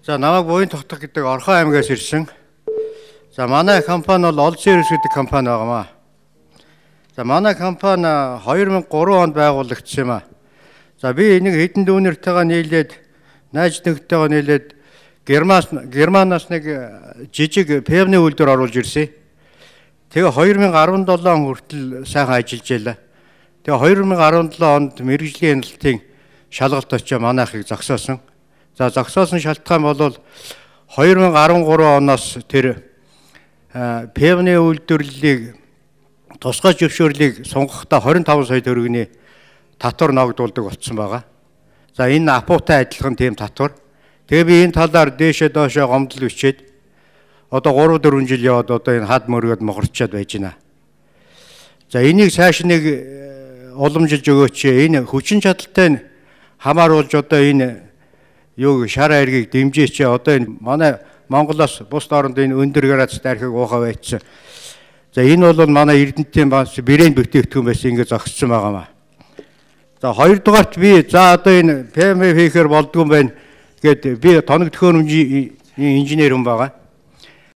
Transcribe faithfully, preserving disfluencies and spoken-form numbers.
За намайг Буян Тогтох гэдэг Орхон аймгаас ирсэн. За манай компани бол Олд Сервис гэдэг компани байгаамаа. За манай компани хоёр мянга гурван онд байгуулагдсан юм аа. За би энийг хэдэн дүүнэртэйгээ нийлээд найз нөхдөйгөө нийлээд Германаас Германаас нэг жижиг певны үйлдвэр оруулж ирсэн. Тэгээ хоёр мянга арван долоо хүртэл сайхан ажиллаж байлаа. Тэгээ хоёр мянга арван долоо онд мэрэгжлийн хяналтын шалгалт очиж манайхыг зогсоосон. За зогсоосон шалтгаан бол хоёр мянга арван гурван оноос тэр певны үйлдвэрлэлийг тусгай зөвшөөрлийг сунгахдаа двадцать пять сая төгрөгийн татвар ногдуулдаг болсон байгаа. За энэ апуутай адилхан тийм татвар. Тэгээ би энэ талаар дээшээ доошоо гомдол бичээд одоо гурав дөрвөн жил яваад одоо энэ хад мөргөд мохорчод байж байна. За энийг цааш нэг уламжилж өгөөч. Энэ хүчин чадалтай хамааруулж одоо энэ юу шар айргийг дэмжээч. Одоо энэ манай Монголоос бус оронд энэ өндөр градустай архийг уухаа байцсан. За энэ бол манай Эрдэнэтийн бас брэнд бүтээгдэхүүн байсан ингэ зогссон байгаамаа. За хоёрдугаарт би за одоо энэ пэ эм хийхээр болдгүй юм байна гэд би тоног төхөөрөмжийн инженер хүн байгаа.